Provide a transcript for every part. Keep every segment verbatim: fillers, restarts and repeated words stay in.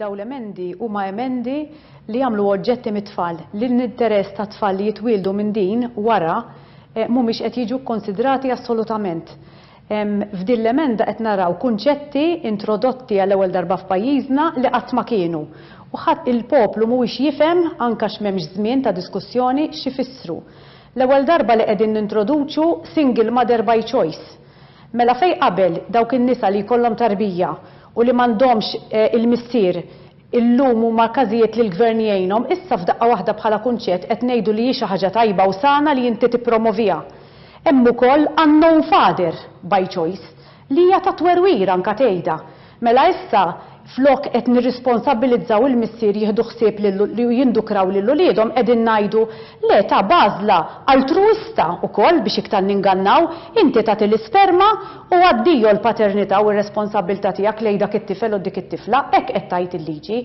Dawn l-emendi huma emendi li jagħmlu oġġetti mit-tfal, li l-interess tat-tfal li jitwieldu minn din wara mhumiex qed jiġu kkonsidrati assolutament. F'din l-emenda qed naraw kunċetti introdotti għall-ewwel darba f'pajjiżna li qatt ma kienu. U ħadd il-poplu mhuwiex jifhem, anke għax m'hemmx żmien ta' diskussjoni, x'ifissru. L-ewwel darba li qegħdin nintroduċu single mother by choice. Mela fejn qabel dawk in-nisa li jkollhom tarbija u li m'għandhomx il-missier illum huma każijiet li l-gvern jgħinhom, issa f'daqqa waħda bħala kunċett qed ngħidu li hi xi ħaġa tajba u sana li inti tippromoviha. Hemm ukoll unknown father by choice li hija ta' twerwir anke tgħidha. Mela issa flok qed nirresponsabilizzaw il-missier jieħdu ħsieb li jindukraw lil uliedhom, qegħdin ngħidu le ta' bażla altruista wkoll biex iktar ningannaw, inti tagħti l-isperma u addio l-paternità u r-responsabilità tiegħek lejn dak it-tifel u dik it-tifla, hekk qed tgħid il-liġi.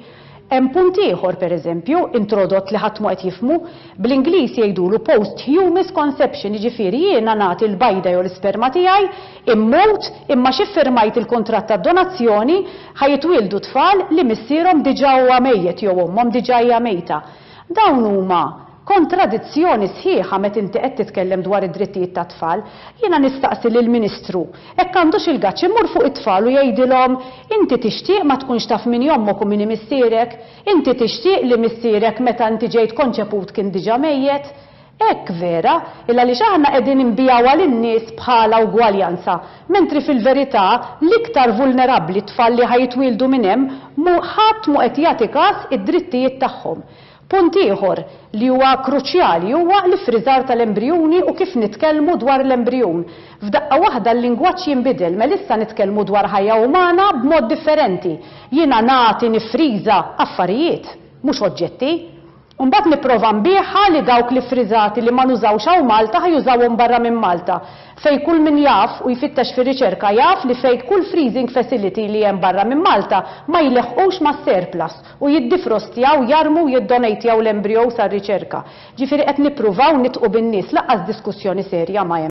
Hemm punt ieħor pereżempju introdott li ħadd mhu qed jifhmu, bl-Ingliż jgħidulu posthumous conception, jiġifieri jiena nagħti l-bajda jew l-isperma tiegħi, immut, imma xi ffirmajt il-kuntratt tad-donazzjoni ħa jitwieldu tfal li missierhom diġà huwa mejjet jew ommhom diġà hija mejta. Dawn huma kontradizzjoni sħiħa meta inti qed titkellem dwar id-drittijiet tat-tfal. Jiena nistaqsi lill-Ministru hekk għandux il-gaċċ imur fuq it-tfal u jgħidilhom inti tixtieq ma tkunx taf min jommok u min missierek, inti tixtieq li missierek meta inti ġejt konċeput kien diġà mejjet. Hekk vera, illa li aħna qegħdin inbijawha lin-nies bħala ugwaljanza, mentri fil-verità l-iktar vulnerabbli tfal li ħa jitwieldu minn hemm mu ħadd mu qed jagħti każ id-drittijiet tagħhom. Punt ieħor li huwa kruċjali huwa l-ifriżar tal-embrijuni u kif nitkellmu dwar l-embrijun. F'daqqa waħda l-lingwaġġ jinbidel, mela issa nitkellmu dwar ħajja umana b'mod differenti. Jiena nagħti nifriża affarijiet, mhux oġġetti. Mbagħad nipprova nbigħha li dawk li friżati li ma nużawx hawn Malta ħa jużawhom barra minn Malta. Fejn kull min jaf u jfittex fir-riċerka jaf li fejn kull freezing facility li hemm barra minn Malta ma jleħqux ma' surplus u jiddifrostjaw, jarmu u jiddonatjaw l-embryos għar-riċerka. Ġifieri qed nippruvaw nitqu bin-nies, lanqas diskussjoni serja ma hemm.